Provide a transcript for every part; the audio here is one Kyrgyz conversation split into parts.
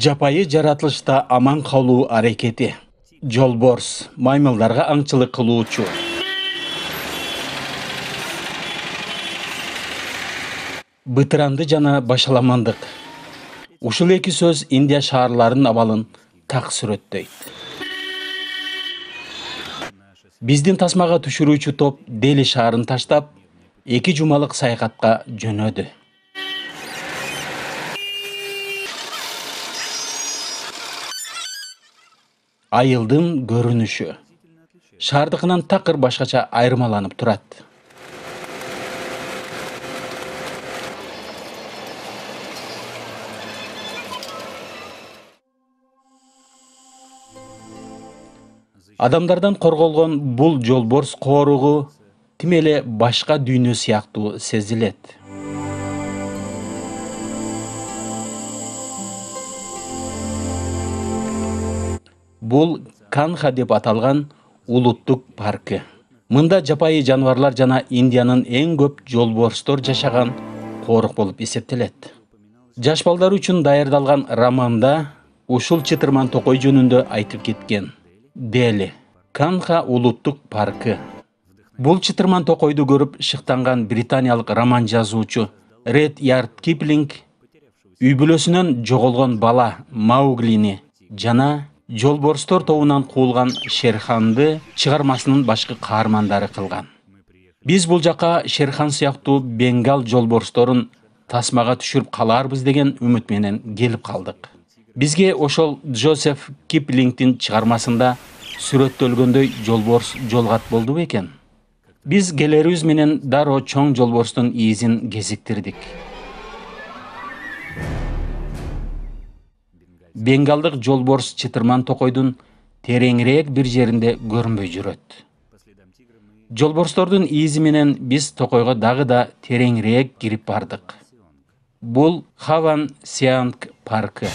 Жапайы жаратылышта аман калуу аракети. Жолборс маймылдарга аңчылык кылуучу. Бытыранды жана башаламандык. Ушул эки сөз Индия шаарларынын абалын так сүрөттөйт. Биздин тасмага түшүрүүчү топ Дели шаарын таштап, 2 жумалык саякатка жөнөдү. Айылдын көрүнүшү шаардыкынан такыр башкача айырмаланып турат. Адамдардан корголгон бул жолборс кооругу тим эле башка дүйнө сыяктуу сезилет. Бул Канха деп аталган улуттук паркы. Мында жапайы жаныбарлар жана Индиянын эң көп жолборстор жашаган коорук болуп эсептелет. Жаш балдар үчүн даярдалган романда ушул чытырман токой жөнүндө айтып кеткен. Дели, Канха улуттук паркы. Бул чытырман токойду көрүп шыктанган британиялык роман жазуучу Редьярд Киплинг үй бүлөсүнөн жоголгон бала Мауглини жана жолборстор тобунан куулган Шерханды чыгармасынын башкы каармандары кылган. Биз бул жака Шерхан сыяктуу Бенгал жолборсторун тасмага түшүрүп каларбыз деген үмүт менен келип калдык. Бизге ошол Джозеф Киплингдин чыгармасында сүрөттөлгөндөй жолборс жолгат болду бекен? Биз келерибиз менен дароо чоң жолборстун изин кезиктирдик. Бенгалдык жолборс чытырман токойдун тереңирээк бир жеринде көрүнбөй жүрөт. Жолборстордун изи менен биз токойго дагы да тереңирээк кирип бардык. Бул Хаван Сианг паркы.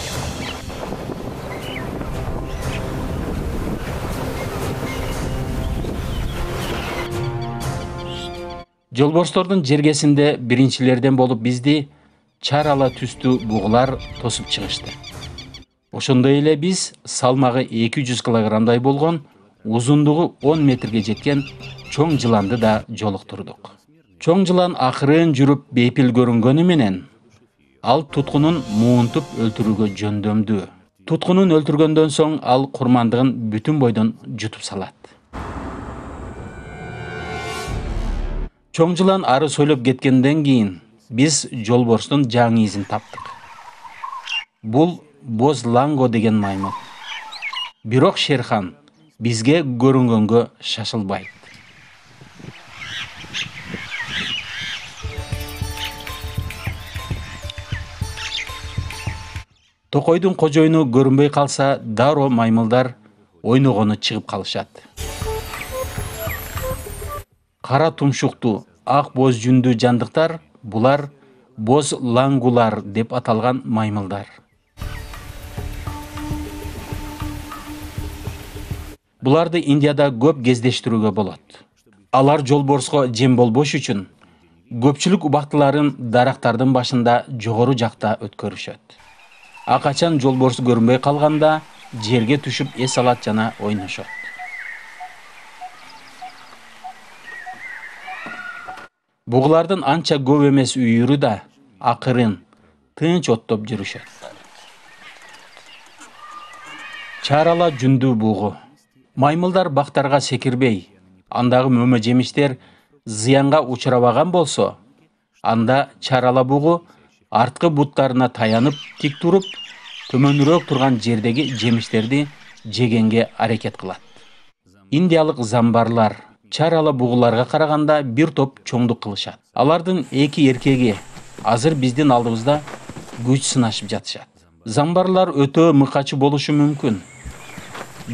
Жолборстордун жергесинде биринчилерден болуп бизди чарала түстүү бугулар тосуп чыгышты. Ошондой эле биз салмагы 200 килограммдай болгон, узундугу 10 метрге жеткен чоң жыланды да жолуктурдук. Чоң жылан акырын жүрүп бейпил көрүнгөнү менен ал туткунун муунтуп өлтүрүүгө жөндөмдүү. Туткунун өлтүргөндөн соң ал курмандыгын бүтүн бойдон жутуп салат. Чоң жылан ары сойлоп кеткенден кийин биз жолборстун жаңы изин таптык. Бул Боз Ланго деген маймыл. Бирок Шерхан бизге көрүнгөнгө шашылбайт. Токойдун кожоюну көрүнбөй калса, дароо маймылдар ойногону чыгып калышат. Кара тумшуктуу, ак боз жүндүү жандыктар, булар боз лангулар деп аталган маймылдар. Буларды Индияда көп кездештирүүгө болот. Алар жолборско жем болбош үчүн көпчүлүк убактыларын дарактардын башында жогору жакта өткөрүшөт. Акачан жолборс көрүнбөй калганда жерге түшүп эс алат жана ойношот. Бугулардын анча көп эмес үйүрү да акырын, тынч оттоп жүрүшөт. Чарала жүндүү бугу. Маймылдар бактарга секирбей, андагы мөмө жемиштер зыянга учурабаган болсо, анда чарала бугу арткы буттарына таянып тик туруп, төмөнүрөөк турган жердеги жемиштерди жегенге аракет кылат. Индиялык замбарлар чарала бугуларга караганда бир топ чоңдук кылышат. Алардын эки эркеги азыр биздин алдыбызда күч сынашып жатышат. Замбарлар өтө мыкачы болушу мүмкүн.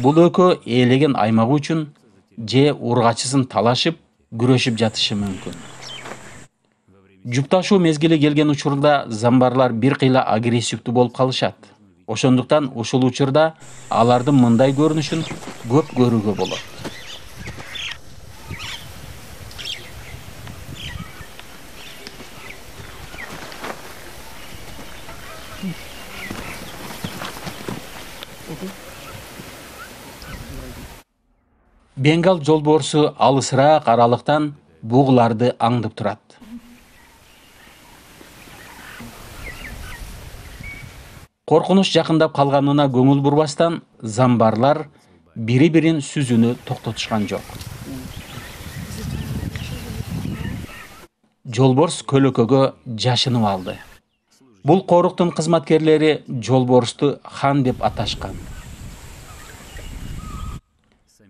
Бул экөө ээлеген аймагы үчүн же ургачысын талашып, күрөшүп жатышы мүмкүн. Жупташуу мезгили келген учурда замбарлар бир кыйла агрессивдүү болуп калышат. Ошондуктан ушул учурда алардын мындай көрүнүшүн көп көрүүгө болот. Бенгал жолборсу алысыраак аралыктан бугуларды аңдып турат. Коркунуч жакындап калганына көңүл бурбастан, замбарлар бири-бирин сүзүүнү токтотушкан жок. Жолборс көлөкөгө жашынып алды. Бул коруктун кызматкерлери жолборсту хан деп аташкан.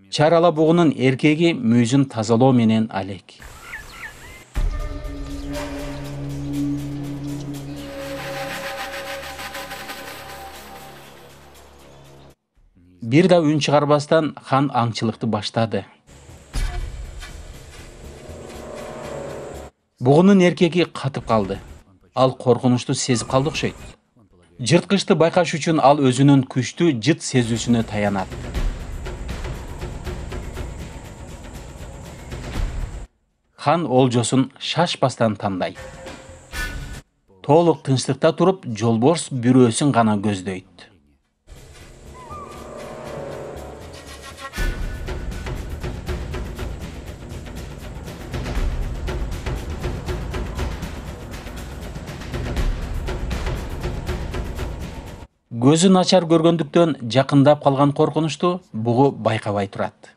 Чарала бугунун эркеги мүйүзүн тазалоо менен алек. Бир да үн чыгарбастан хан аңчылыкты баштады. Бугунун эркеги катып калды. Ал коркунучту сезип калды окшойт. Жырткычты байкаш үчүн ал өзүнүн күчтүү жыт сезүүсүнө таянат. Хан олжосун шашпастан тандайт. Толук тынчтыкта туруп, жолборс бирөөсүн гана көздөйт. Көзү начар көргөндүктөн жакындап калган коркунучту бугу байкабай турат.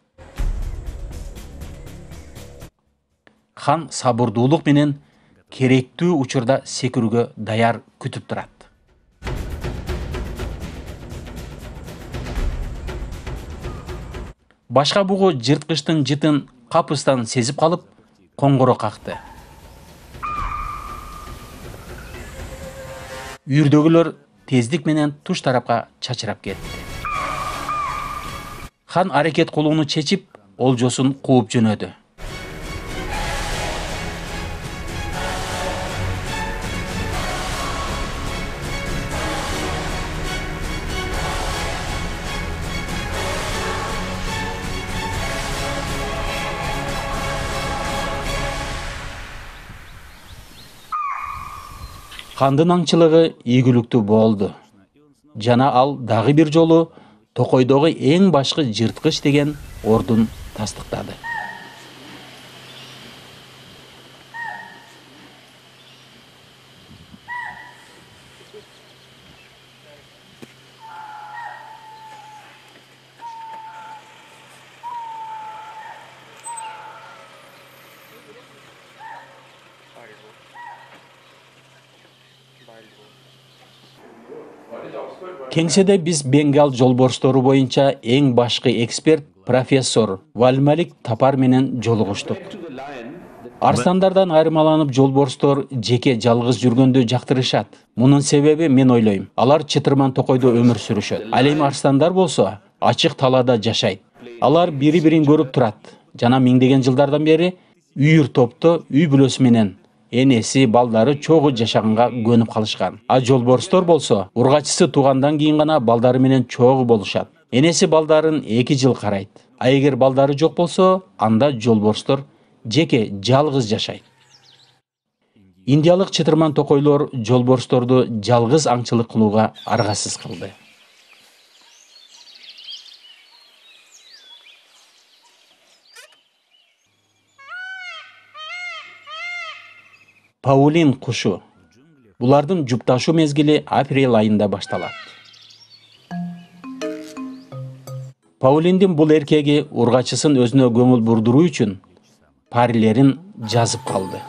Хан сабырдуулук менен керектүү учурда секирүүгө даяр күтүп турат. Башка бугу жырткычтын жытын капыстан сезип калып, коңгуро какты. Үйүрдөгүлөр тездик менен туш тарапка чачырап кетти. Хан аракет кылууну чечип, олжосун кууп жөнөдү. Хандын аңчылыгы ийгиликтүү болду. Жана ал дагы бир жолу Токойдогу эң башкы жырткыч деген ордун тастыктады. Кеңседе биз Бенгал жолборстору боюнча эң башкы эксперт профессор Вальмалик Тапар менен жолугуштук. Арстандардан айырмаланып жолборстор жеке жалгыз жүргөндү жактырышат. Мунун себеби мен ойлойм, алар чытырман токойдо өмүр сүрүшөт. Ал эми арстандар болсо ачык талаада жашайт. Алар бири-бирин көрүп турат жана миңдеген жылдардан бери үйүр топто үй бүлөсү менен энеси, балдары чогуу жашаганга көнүп калышкан. А жолборстор болсо ургачысы туугандан кийин гана балдары менен чогуу болушат. Энеси балдарын 2 жыл карайт. А эгер балдары жок болсо, анда жолборстор жеке жалгыз жашайт. Индиялык чытырман токойлор жолборсторду жалгыз аңчылык кылууга аргасыз кылды. Паулин кушу. Булардын жупташуу мезгили апрель айында башталат. Паулиндин бул эркеги ургачысын өзүнө көңүл бурдуруу үчүн парилерин жазып калды.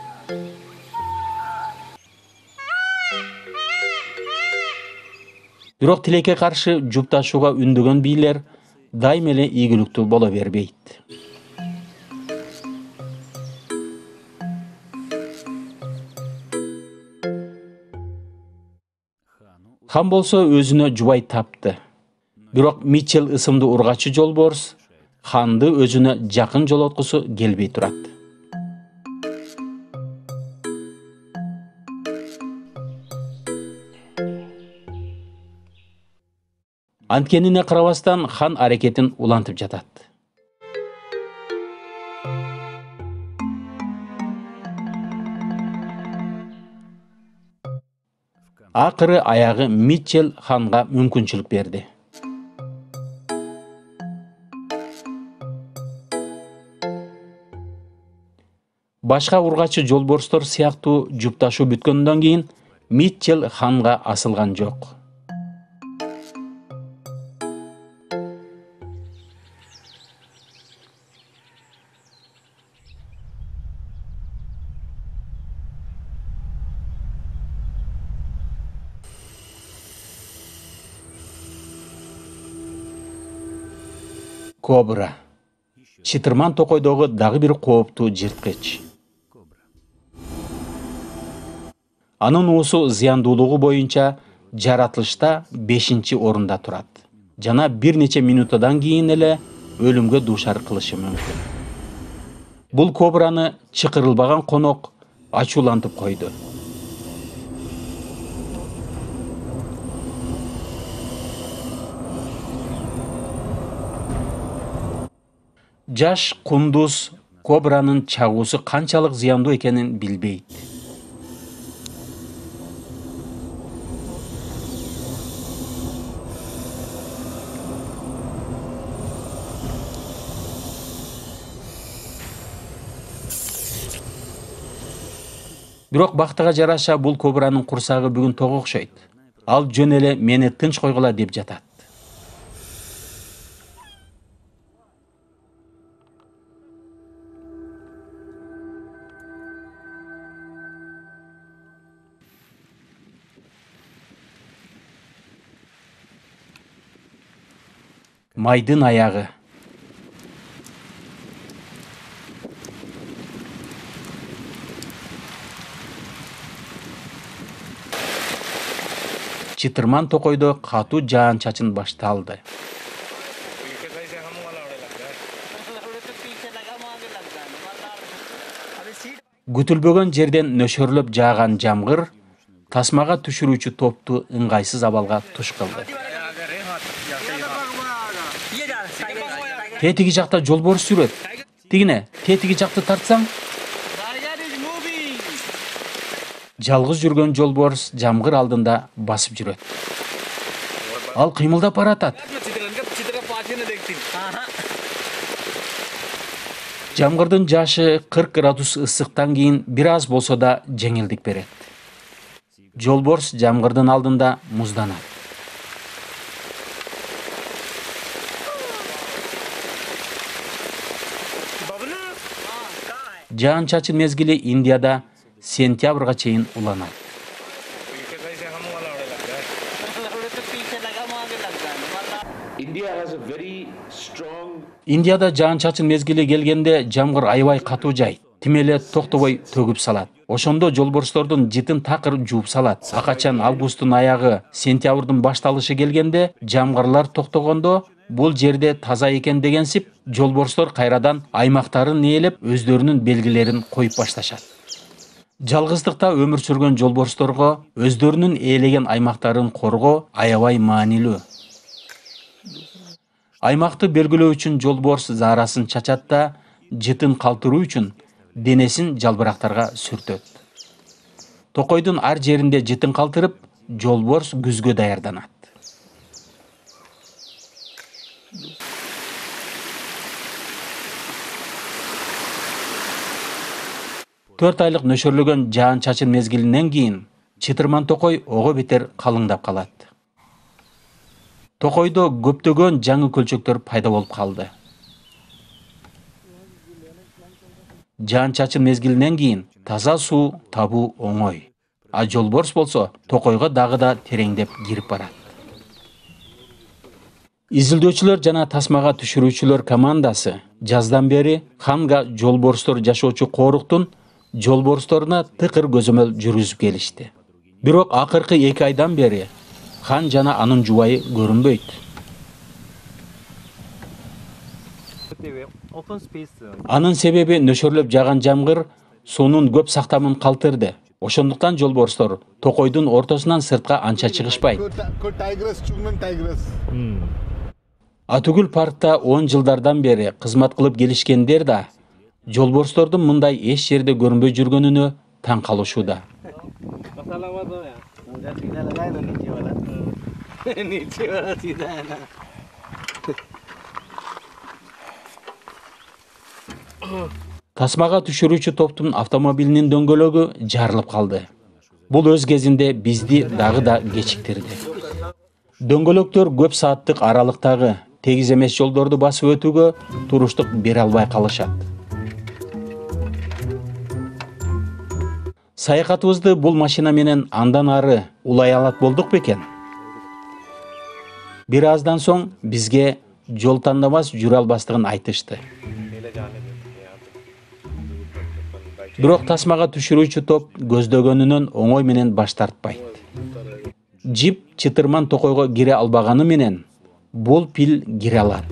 Бирок тилекке каршы жупташууга үндөгөн бийлер дайым эле ийгиликтүү боло бербейт. Хан болсо өзүнө жубай тапты. Бирок Митчелл ысымдуу ургачы жолборс ханды өзүнө жакын жолоткусу келбей турат. Анткенине карабастан хан аракетин улантып жатат. Акыры аягы Митчелл ханга мүмкүнчүлүк берди. Башка ургачы жолборстор сыяктуу жупташуу бүткөндөн кийин Митчелл ханга асылган жок. Кобра. Чытырман токойдогу дагы бир кооптуу жырткыч. Анын уусу зыяндуулугу боюнча жаратылышта 5-орунда турат жана бир нече минуттан кийин эле өлүмгө дуушар кылышы мүмкүн. Бул кобраны чакырылбаган конок ачуулантып койду. Жаш кундуз кобранын чагуусу канчалык зыяндуу экенин билбейт. Бирок бактыга жараша бул кобранын курсагы бүгүн ток окшойт. Ал жөн эле мени тынч койгула деп жатат. Майдын аягы. Чытырман токойдо катуу жаан-чачын башталды. Күтүлбөгөн жерден нөшөрлөп жааган жамгыр тасмага түшүрүүчү топту ыңгайсыз абалга туш кылды. Тетиги жакта жолборс жүрөт. Тигине, тетиги жакты тартсаң. Жалгыз жүргөн жолборс жамгыр алдында басып жүрөт. Ал кыймылдап баратат. Жамгырдын жашы 40 градус ысыктан кийин бир аз болсо да жеңилдик берет. Жолборс жамгырдын алдында музданат. Жаан-чачын мезгили Индияда сентябрга чейин уланат. Индияда жаан-чачын мезгили келгенде жамгыр аябай катуу жайт. Тим эле токтобой төгүп салат. Ошондо жолборстордун жытын такыр жууп салат. А качан августтун аягы, сентябрдын башталышы келгенде жамгырлар токтогондо бул жерде таза экен дегенсип, жолборстор кайрадан аймактарын ээлеп, өздөрүнүн белгилерин коюп башташат. Жалгыздыкта өмүр сүргөн жолборсторго өздөрүнүн ээлеген аймактарын коргоо аябай маанилүү. Аймакты белгилөө үчүн жолборс заарасын чачат да, жытын калтыруу үчүн денесин жалбырактарга сүртөт. Токойдун ар жеринде жытын калтырып, жолборс күзгө даярданат. Төрт айлык нөшөрлөгөн жаан-чачын мезгилинен кийин чытырман токой ого бетер калыңдап калат. Токойдо көптөгөн жаңы көлчөктөр пайда болуп калды. Жаан-чачын мезгилинен кийин таза суу табуу оңой. А жолборс болсо токойго дагы да тереңдеп кирип барат. Изилдөөчүлөр жана тасмага түшүрүүчүлөр командасы жаздан бери ханга жолборстор жашоочу кооруктун жолборсторуна тыкыр көзөмөл жүргүзүп келишти. Бирок акыркы 2 айдан бери хан жана анын жубайы көрүнбөйт. Анын себеби нөшөрлөп жааган жамгыр суунун көп сактамын калтырды. Ошондуктан жолборстор токойдун ортосунан сыртка анча чыгышпайт. Атүгүл паркта 10 жылдардан бери кызмат кылып келишкендер да жолборстордун мындай эч жерде көрүнбөй жүргөнүнө таң калышууда. Тасмага түшүрүүчү топтун автомобилинин дөңгөлөгү жарылып калды. Бул өз кезинде бизди дагы да кечиктирди. Дөңгөлөктөр көп сааттык аралыктагы тегиз эмес жолдорду басып өтүүгө туруштук бере албай калышат. Саякатыбызды бул машина менен андан ары улай алат болдук бекен? Бир аздан соң бизге жол тандабас жүрө албастыгын айтышты. Бирок тасмага түшүрүүчү топ көздөгөнүнөн оңой менен баш тартпайт. Джип чытырман токойго кире албаганы менен бул пил кире алат.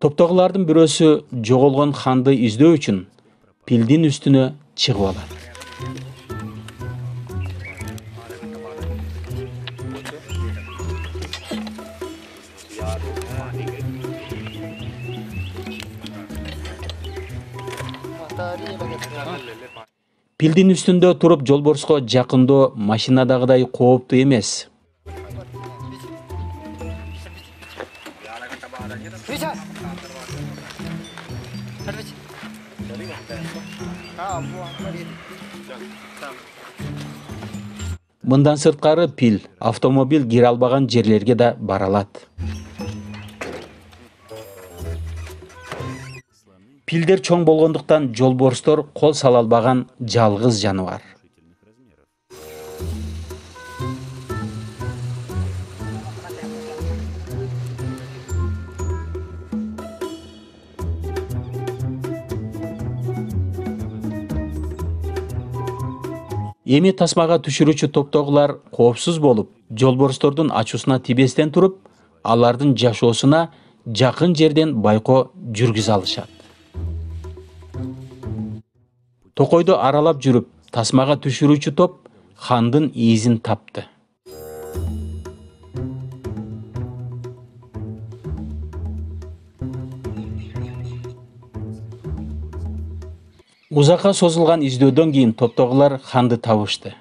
Топтогулардын бирөөсү жоголгон ханды издөө үчүн пилдин үстүнө чыгып алат. Пилдин үстүндө туруп жолборско жакындоо машинадагыдай кооптуу эмес. Мындан сырткары пил автомобиль кире албаган жерлерге да бара алат. Пилдер чоң болгондуктан жолборстор кол сала албаган жалгыз жаныбар. Эми тасмага түшүрүүчү топтогулар коопсуз болуп, жолборстордун ачуусуна тибестен туруп, алардын жашоосуна жакын жерден байкоо жүргүзө алышат. Токойду аралап жүрүп, тасмага түшүрүүчү топ хандын изин тапты. Узакка созулган издөөдөн кийин топтогулар ханды табышты.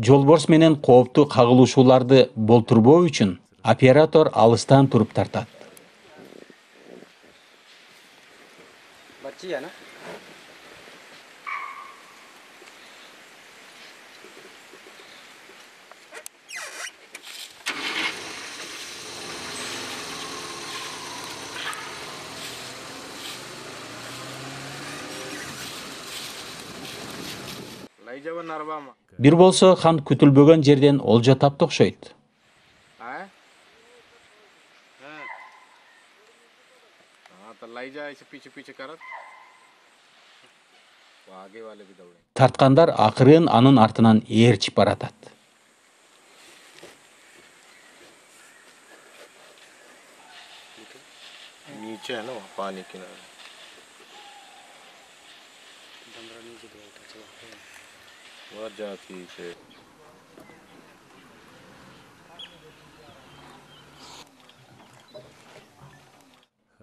Жолборс менен кооптуу кагылышууларды болтурбоо үчүн оператор алыстан туруп тартат. Бир болсо хан күтүлбөгөн жерден олжо тапты окшойт. Тарткандар акырын анын артынан ээрчип баратат.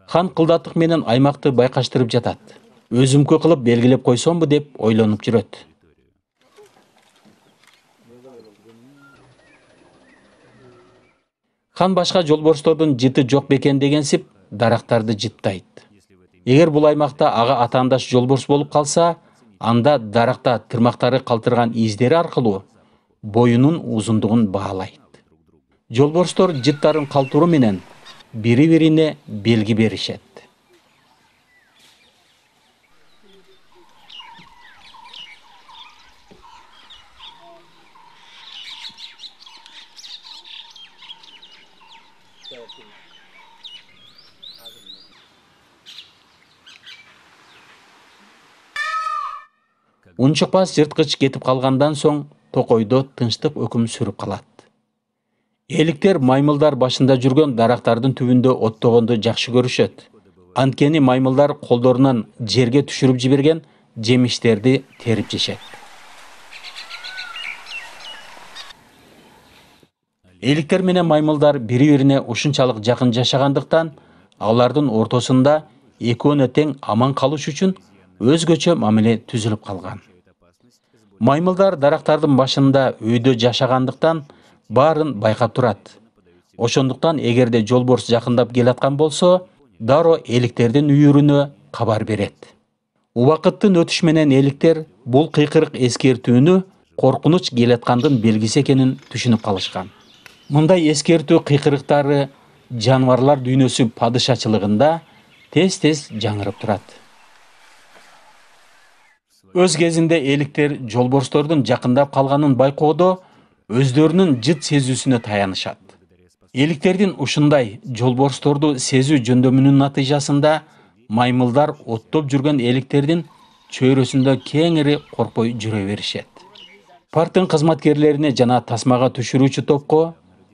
Хан кылдаттык менен аймакты байкаштырып жатат. Өзүмкө кылып белгилеп койсомбу деп ойлонуп жүрөт. Хан башка жолборстордун жыты жок бекен дегенсип дарактарды жыттайт. Эгер бул аймакта ага атаандаш жолборс болуп калса, Анда даракта тырмактары калтырган издери аркылуу боюнун узундугун баалайт. Жолборстор жыттарын калтыруу менен бири-бирине белги беришет. Унчукпас жырткыч кетип калгандан соң токойдо тынчтык өкүм сүрүп калат. Эликтер маймылдар башында жүргөн дарактардын түбүндө оттогонду жакшы көрүшөт. Анткени маймылдар колдорунан жерге түшүрүп жиберген жемиштерди терип жешет. Эликтер менен маймылдар бири-бирине ушунчалык жакын жашагандыктан, алардын ортосунда экөөнө тең аман калыш үчүн өзгөчө мамиле түзүлүп калган. Маймылдар дарактардын башында өйдө жашагандыктан баарын байкап турат. Ошондуктан эгерде жолборс жакындап келаткан болсо, дароо эликтердин үйүрүнө кабар берет. Убакыттын өтүшү менен эликтер бул кыйкырык эскертүүнү коркунуч келаткандын белгиси экенин түшүнүп калышкан. Мындай эскертүү кыйкырыктары жаныбарлар дүйнөсү падышачылыгында тез-тез жаңырып турат. Өз кезинде эликтер жолборстордун жакындап калганын байкоодо өздөрүнүн жыт сезүүсүнө таянышат. Эликтердин ушундай жолборсторду сезүү жөндөмүнүн натыйжасында маймылдар оттоп жүргөн эликтердин чөйрөсүндө кеңири коркпой жүрө беришет. Парктын кызматкерлерине жана тасмага түшүрүүчү топко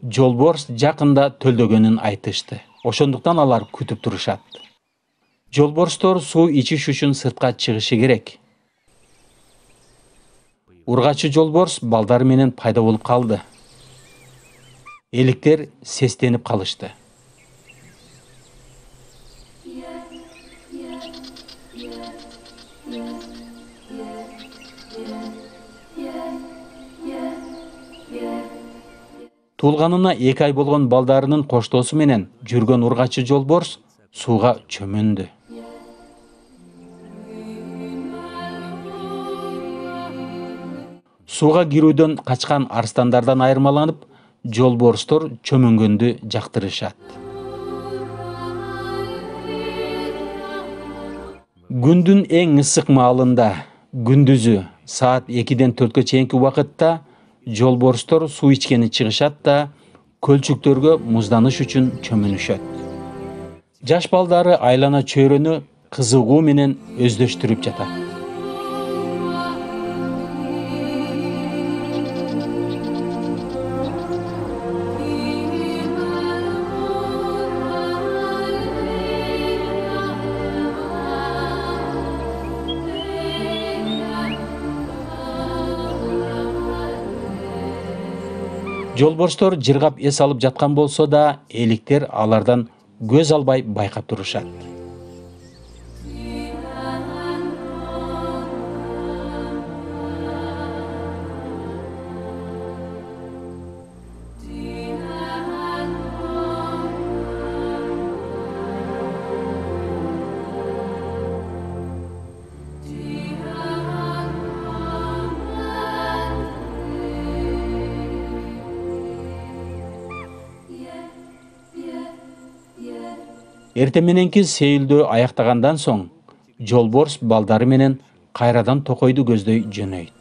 жолборс жакында төлдөгөнүн айтышты. Ошондуктан алар күтүп турушат. Жолборстор суу ичиш үчүн сыртка чыгышы керек. Ургачы жолборс балдары менен пайда болуп калды. Эликтер сестенип калышты. Туулганына 2 ай болгон балдарынын коштоосу менен жүргөн ургачы жолборс сууга чөмүндү. Сууга кирүүдөн качкан арстандардан айырмаланып, жолборстор чөмүнгөндү жактырышат. Күндүн эң ысык маалында, күндүзү саат 2-ден 4-кө чейинки убакытта жолборстор суу ичкени чыгышат да көлчүктөргө музданыш үчүн чөмүнүшөт. Жаш балдары айлана чөйрөнү кызыгуу менен өздөштүрүп жатат. Жолборстор жыргап эс алып жаткан болсо да, эликтер алардан көз албай байкап турушат. Эртең мененки сейилдөө аяктагандан соң, жолборс балдары менен кайрадан токойду көздөй жөнөйт.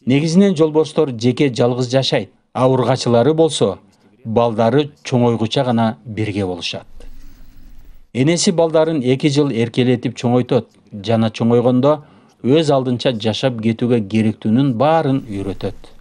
Негизинен жолборстор жеке жалгыз жашайт. Ургачылары болсо, балдары чоңойгуча гана бирге болушат. Энеси балдарын 2 жыл эркелетип чоңойтот жана чоңойгондо өз алдынча жашап кетүүгө керектүүнүн баарын үйрөтөт.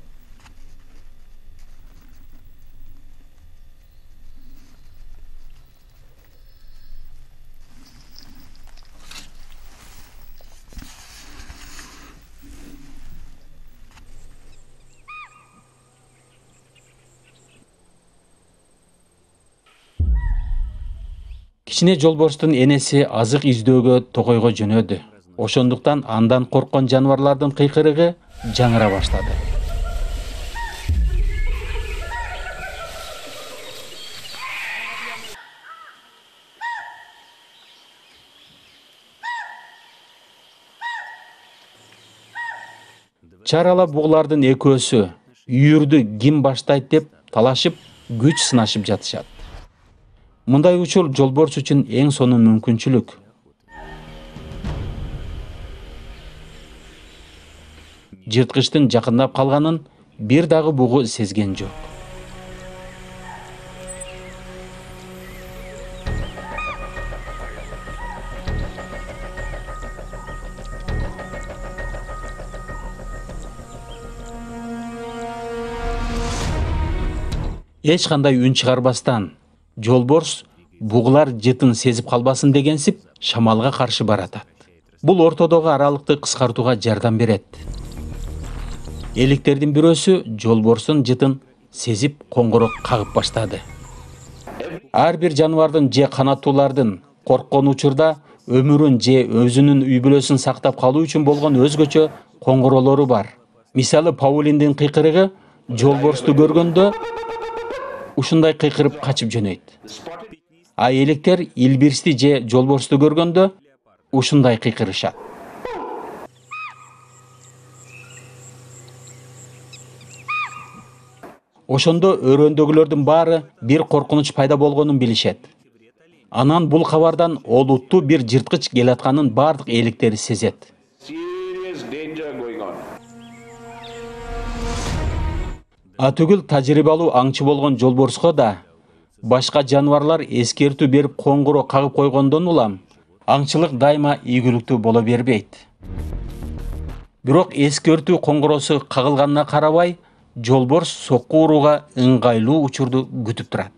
Кичине жолборстун энеси азык издөөгө токойго жөнөдү. Ошондуктан андан корккон жаныбарлардын кыйкырыгы жаңыра баштады. Чарала бугулардын экөөсү үйүрдү ким баштайт деп талашып, күч сынашып жатышат. Мындай учур жолборс үчүн эң сонун мүмкүнчүлүк. Жырткычтын жакындап калганын бир дагы бугу сезген жок. Эч кандай үн чыгарбастан жолборс бугулар жытын сезип калбасын дегенсип шамалга каршы баратат. Бул ортодогу аралыкты кыскартууга жардам берет. Эликтердин бирөөсү жолборстун жытын сезип коңгуроо кагып баштады. Ар бир жаныбардын же канаттуулардын корккон учурда өмүрүн же өзүнүн үй бүлөсүн сактап калуу үчүн болгон өзгөчө коңгуроолору бар. Мисалы, Паулиндин кыйкырыгы жолборсту көргөндө ушундай кыйкырып качып жөнөйт. А электер илбирсти же жолборсту көргөндө ушундай кыйкырышат. Ошондо өрөөндөгүлөрдүн баары бир коркунуч пайда болгонун билишет. Анан бул кабардан олуттуу бир жырткыч келатканын бардык электери сезет. Атүгүл тажрыйбалуу аңчы болгон жолборско да башка жаныбарлар эскертүү берип коңгуроо кагып койгондон улам аңчылык дайыма ийгиликтүү боло бербейт. Бирок эскертүү коңгуроосу кагылганына карабай, жолборс сокку урууга ыңгайлуу учурду күтүп турат.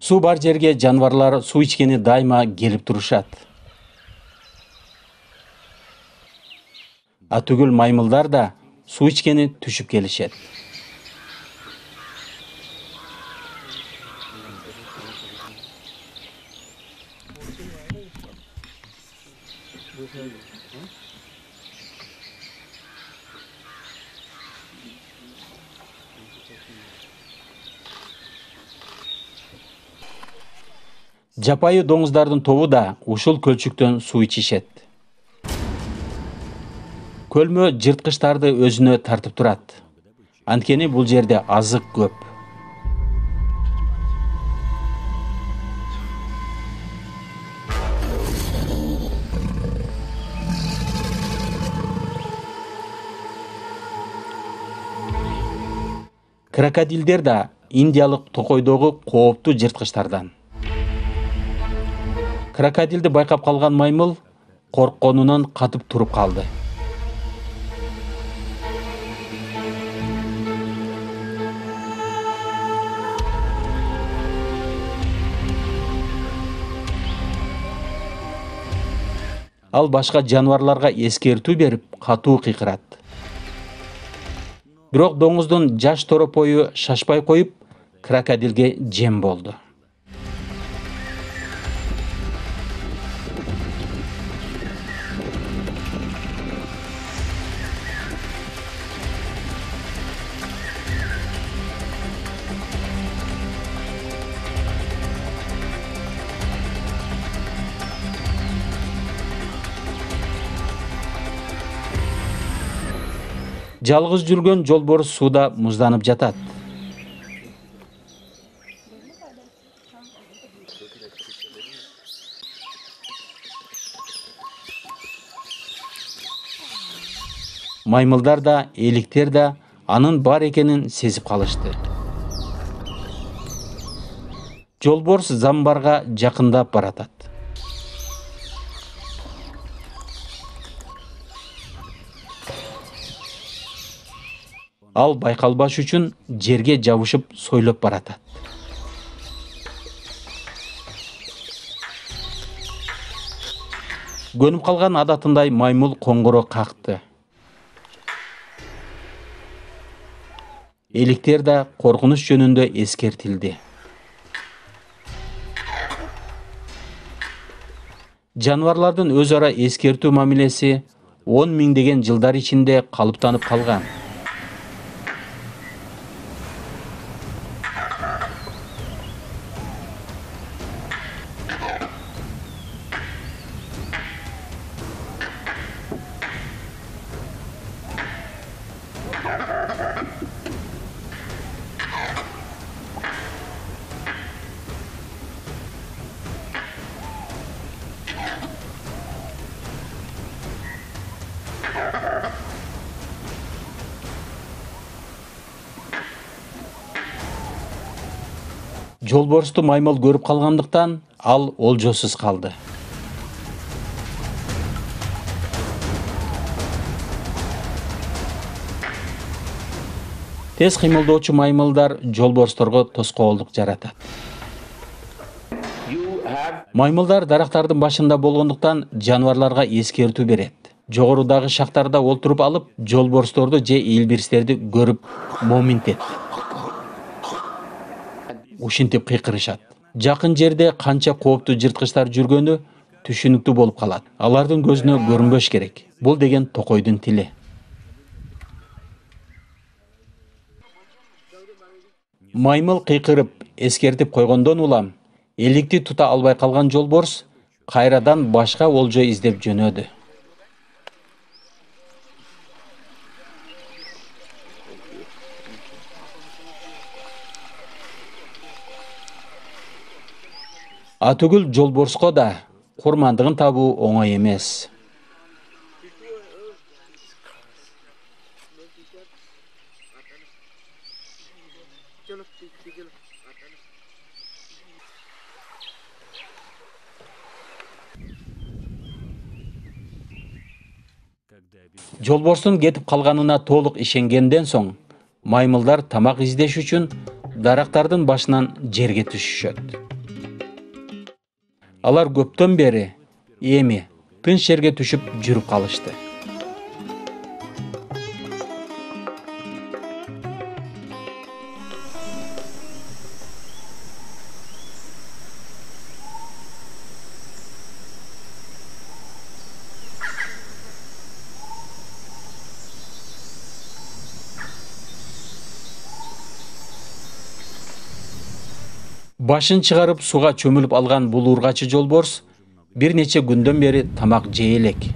Суу бар жерге жаныбарлар суу ичкени дайыма келип турушат. Атүгүл маймылдар да суу ичкени түшүп келишет. Жапайы доңуздардын тобу да ушул көлчүктөн суу ичишет. Көлмө жырткычтарды өзүнө тартып турат. Анткени бул жерде азык көп. Крокодилдер да индиялык токойдогу кооптуу жырткычтардан. Крокодилди байкап калган маймыл коркконунан катып туруп калды. Ал башка жаныбарларга эскертүү берип, катуу кыйкырат. Бирок доңуздун жаш торопою шашпай коюп, крокодилге жем болду. Жалгыз жүргөн жолборс сууда музданып жатат. Маймылдар да, эликтер да анын бар экенин сезип калышты. Жолборс замбарга жакындап баратат. Ал байкалбаш үчүн жерге жабышып сойлоп баратат. Көнүп калган адатындай маймыл коңгуроо какты. Эликтер да коркунуч жөнүндө эскертилди. Жанварлардын өз ара эскертүү мамилеси 10 миңдеген жылдар ичинде калыптанып калган. Жолборсту маймыл көрүп калгандыктан ал олжосуз калды. Тез кыймылдоочу маймылдар жолборсторго тоскоолдук жаратат. Маймылдар дарактардын башында болгондуктан жанварларга эскертүү берет. Жогорудагы шактарда олтуруп алып, жолборсторду же илбирстерди көрүп моминтет. Ушинтип кыйкырышат. Жакын жерде канча кооптуу жырткычтар жүргөнү түшүнүктүү болуп калат. Алардын көзүнө көрүнбөш керек. Бул деген токойдун тили. Маймыл кыйкырып, эскертип койгондон улам, эликти тута албай калган жолборс кайрадан башка олжо издеп жөнөдү. Атүгүл жолборско да курмандыгын табуу оңой эмес. Жолборстун кетип калганына толук ишенгенден соң, маймылдар тамак издеш үчүн дарактардын башынан жерге түшүшөт. Алар көптөн бери эми тынч жерге түшүп жүрүп калышты. Башын чыгарып суга чөмүлүп алган бул ургачы жолборс бир нече күндөн бери тамак жей элек.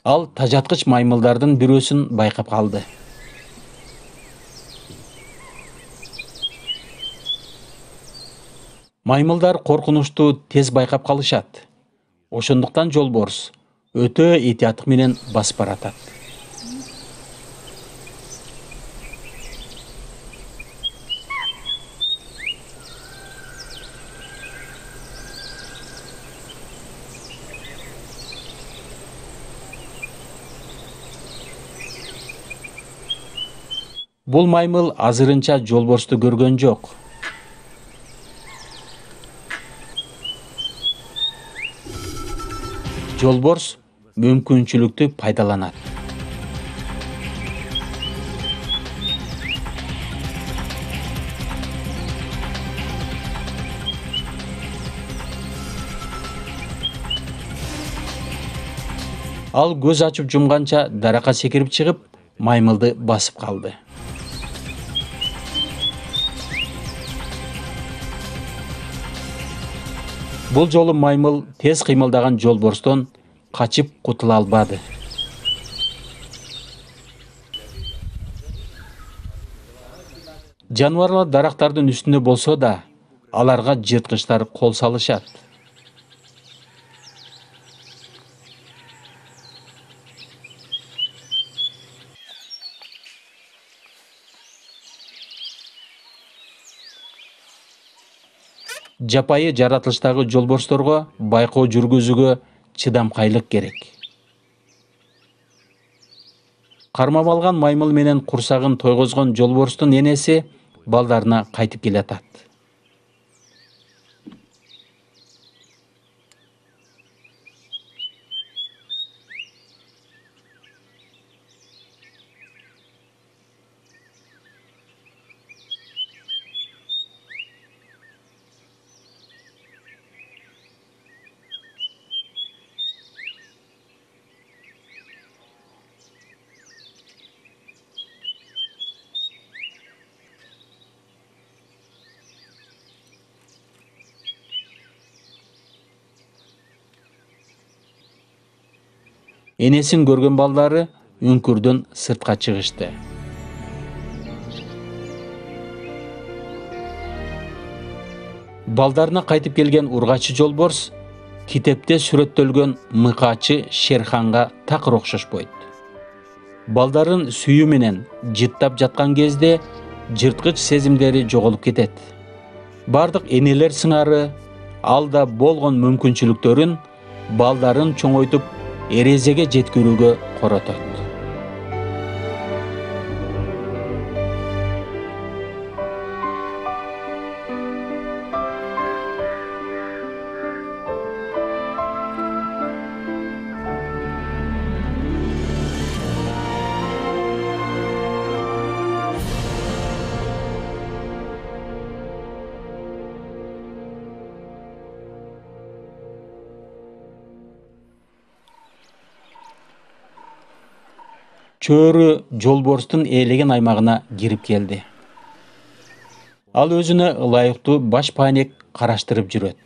Ал тажаткыч маймылдардын бирөөсүн байкап калды. Маймылдар коркунучту тез байкап калышат. Ошондуктан жолборс өтө этияттык менен басып баратат. Бул маймыл азырынча жолборсту көргөн жок. Жолборс мүмкүнчүлүктү пайдаланат. Ал көз ачып жумганча даракка секирип чыгып, маймылды басып калды. Бул жолу маймыл тез кыймылдаган жолборстон качып кутула албады. Жанварлар дарактардын үстүндө болсо да, аларга жырткычтар кол салышат. Жапайы жаратылыштагы жолборсторго байкоо жүргүзүүгө чыдамкайлык керек. Кармап алган маймыл менен курсагын тойгозгон жолборстун энеси балдарына кайтып келатат. Энесин көргөн балдары үңкүрдөн сыртка чыгышты. Балдарына кайтып келген ургачы жолборс китепте сүрөттөлгөн мыкаачы Шерханга такыр окшошпойт. Балдарын сүйүү менен жыттап жаткан кезде жырткыч сезимдери жоголуп кетет. Бардык энелер сыңары алда болгон мүмкүнчүлүктөрүн балдарын чоңойтуп эрезеге жеткирүүгө коротот. Чөөрү жолборстун ээлеген аймагына кирип келди. Ал өзүнө ылайыктуу баш паанек караштырып жүрөт.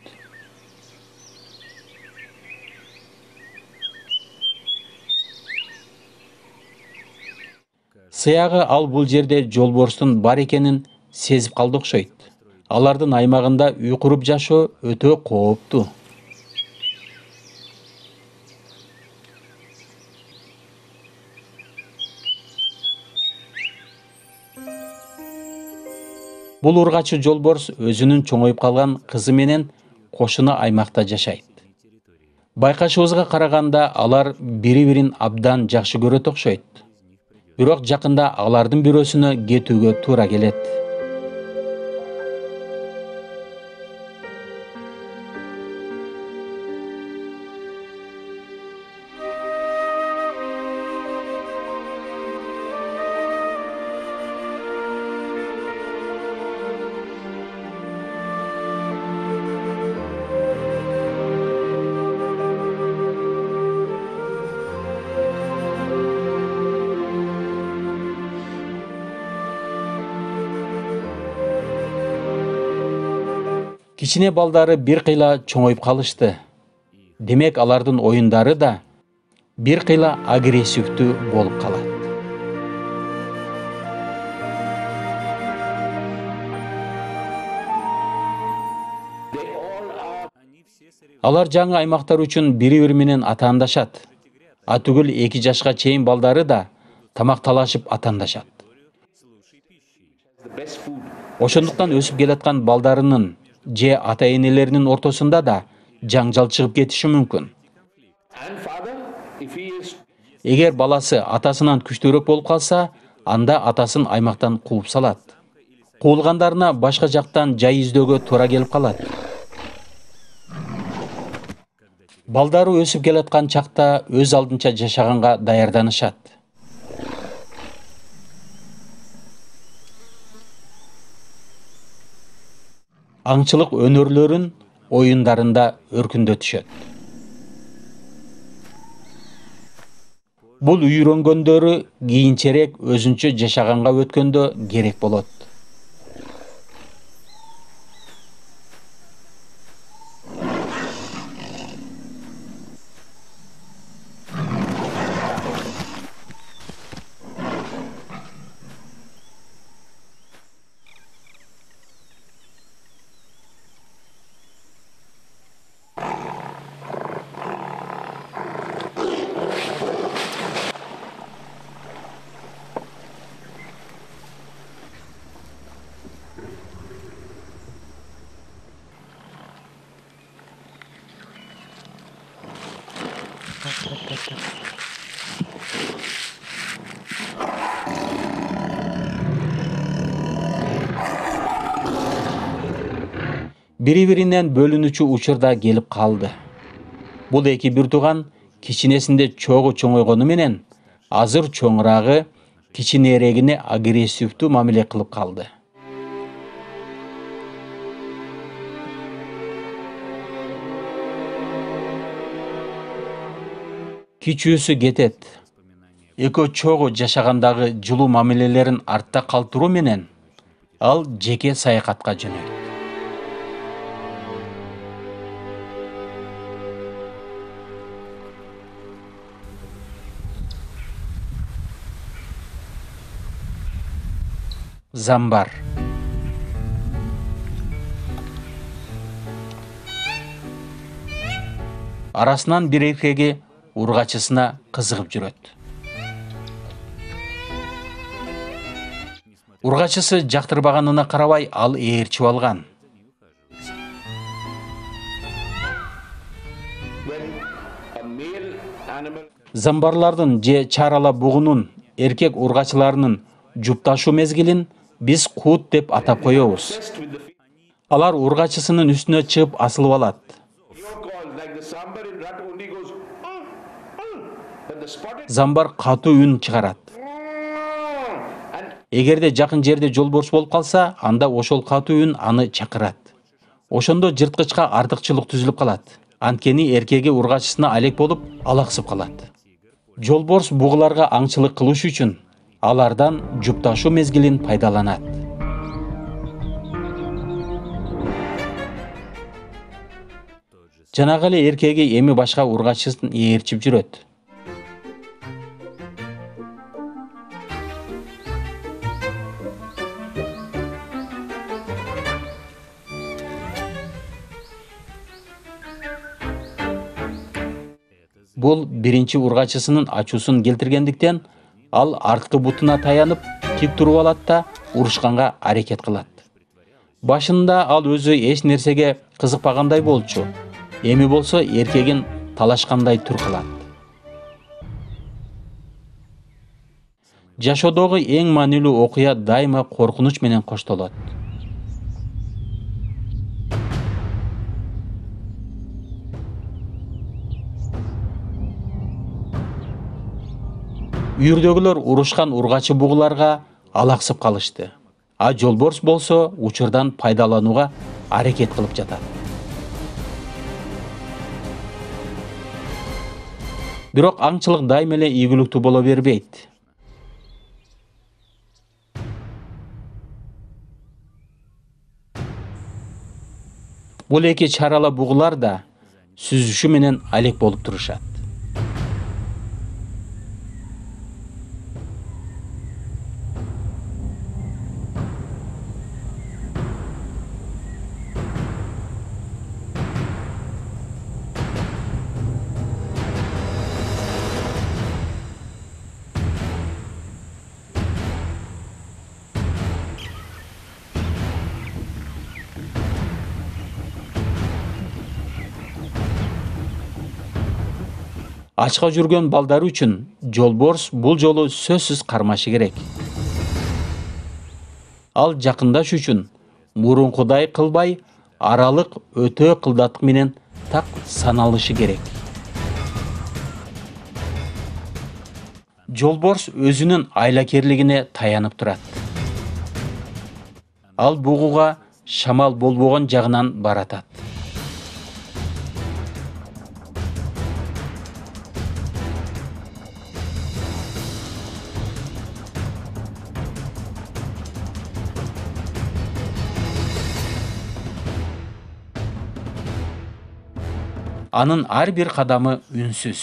Сыягы ал бул жерде жолборстун бар экенин сезип калды окшойт. Алардын аймагында үй куруп жашоо өтө кооптуу. Бул ургачы жолборс өзүнүн чоңоюп калган кызы менен кошуна аймакта жашайт. Байкашыбызга караганда алар бири-бирин абдан жакшы көрөт окшойт. Бирок жакында алардын бирөөсүнө кетүүгө туура келет. Кичине балдары бир кыйла чоңоюп калышты. Демек алардын оюндары да бир кыйла агрессивдүү болуп калат. Алар жаңы аймактар үчүн бири-бири менен атаандашат. Атүгүл 2 жашка чейин балдары да тамакталашып атаандашат. Ошондуктан өсүп келаткан балдарынын же ата-энелеринин ортосунда да жаңжал чыгып кетиши мүмкүн. Эгер баласы атасынан күчтүүрөөк болуп калса, анда атасын аймактан кууп салат. Куулгандарына башка жактан жай издөөгө туура келип калат. Балдары өсүп келаткан чакта өз алдынча жашаганга даярданышат. Аңчылык өнөрлөрүн оюндарында өркүндөтүшөт. Бул үйрөнгөндөрү кийинчерээк өзүнчө жашаганга өткөндө керек болот. Бири-биринен бөлүнүүчү учурда келип калды. Бул эки бир тууган кичинесинде чогуу чоңойгону менен азыр чоңурагы кичинерегине агрессивдүү мамиле кылып калды. Кичүүсү кетет. Экөө чогуу жашагандагы жылуу мамилелерин артта калтыруу менен ал жеке саякатка жөнөйт. Замбар. Арасынан бир эркеги ургачысына кызыгып жүрөт. Ургачысы жактырбаганына карабай ал ээрчип алган. Замбарлардын же чарала бугунун эркек ургачыларынын жупташуу мезгилин биз кут деп атап коебуз. Алар ургачысынын үстүнө чыгып асылып алат. Замбар катуу үн чыгарат. Эгерде жакын жерде жолборс болуп калса, анда ошол катуу үн аны чакырат. Ошондо жырткычка артыкчылык түзүлүп калат. Анткени эркеги ургачысына алек болуп, алаксып калат. Жолборс бугуларга аңчылык кылыш үчүн алардан жупташуу мезгилин пайдаланат. Жанагы эле эркеги эми башка ургачысын ээрчип жүрөт. Бул биринчи ургачысынын ачуусун келтиргендиктен ал арткы бутуна таянып тик туруп алат да урушканга аракет кылат. Башында ал өзү эч нерсеге кызыкпагандай болчу. Эми болсо эркегин талашкандай түр кылат. Жашоодогу эң маанилүү окуя дайыма коркунуч менен коштолот. Үйүрдөгүлөр урушкан ургачы бугуларга алаксып калышты. А жолборс болсо учурдан пайдаланууга аракет кылып жатат. Бирок аңчылык дайыма эле ийгиликтүү боло бербейт. Бул эки чарала бугулар да сүзүшү менен алек болуп турушат. Ачка жүргөн балдар үчүн жолборс бул жолу сөзсүз кармашы керек. Ал жакындаш үчүн мурункудай кылбай, аралык өтө кылдаттык менен так саналышы керек. Жолборс өзүнүн айлакерлигине таянып турат. Ал бугуга шамал болбогон жагынан баратат. Анын ар бир кадамы үнсүз.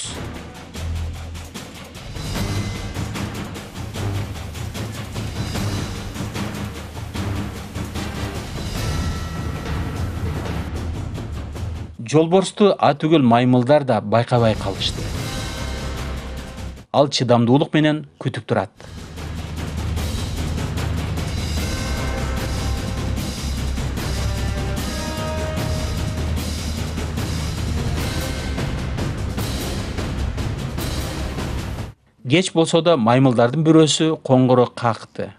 Жолборсту атүгүл маймылдар да байкабай калышты. Ал чыдамдуулук менен күтүп турат. Кеч болсо да маймылдардын бирөөсү коңгуроо какты.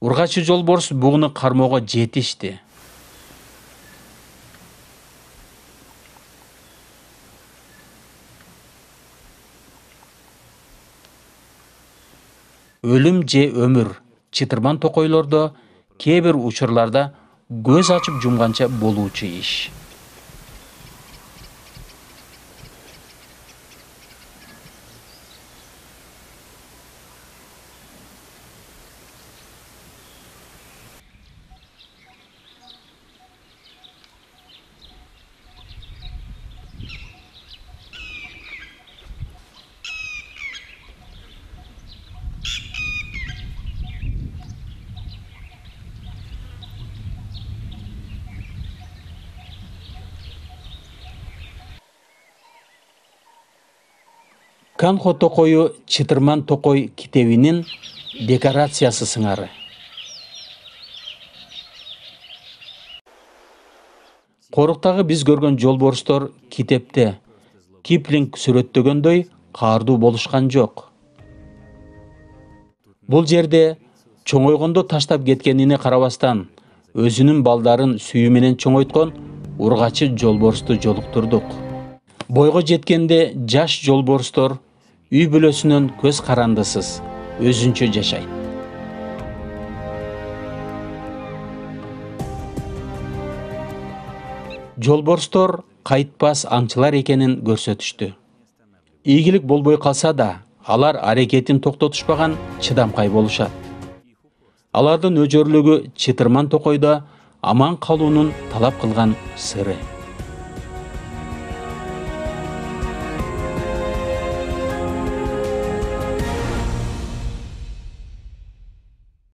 Ургачы жолборс бугуну кармоого жетишти. Өлүм же өмүр чытырман токойлордо кээ бир учурларда көз ачып жумганча болуучу иш. Канхо токою чытырман токой китебинин декорациясы сыңары. Коруктагы биз көргөн жолборстор китепте Киплинг сүрөттөгөндөй каардуу болушкан жок. Бул жерде чоңойгондо таштап кеткенине карабастан өзүнүн балдарын сүйүү менен чоңойткон ургачы жолборсту жолуктурдук. Бойго жеткенде жаш жолборстор үй бүлөсүнөн көз карандысыз өзүнчө жашайт. Жолборстор кайтпас аңчылар экенин көрсөтүштү. Ийгилик болбой калса да, алар аракетин токтотушпаган чыдамкай болушат. Алардын өжөрлүгү чытырман токойдо аман калуунун талап кылган сыры.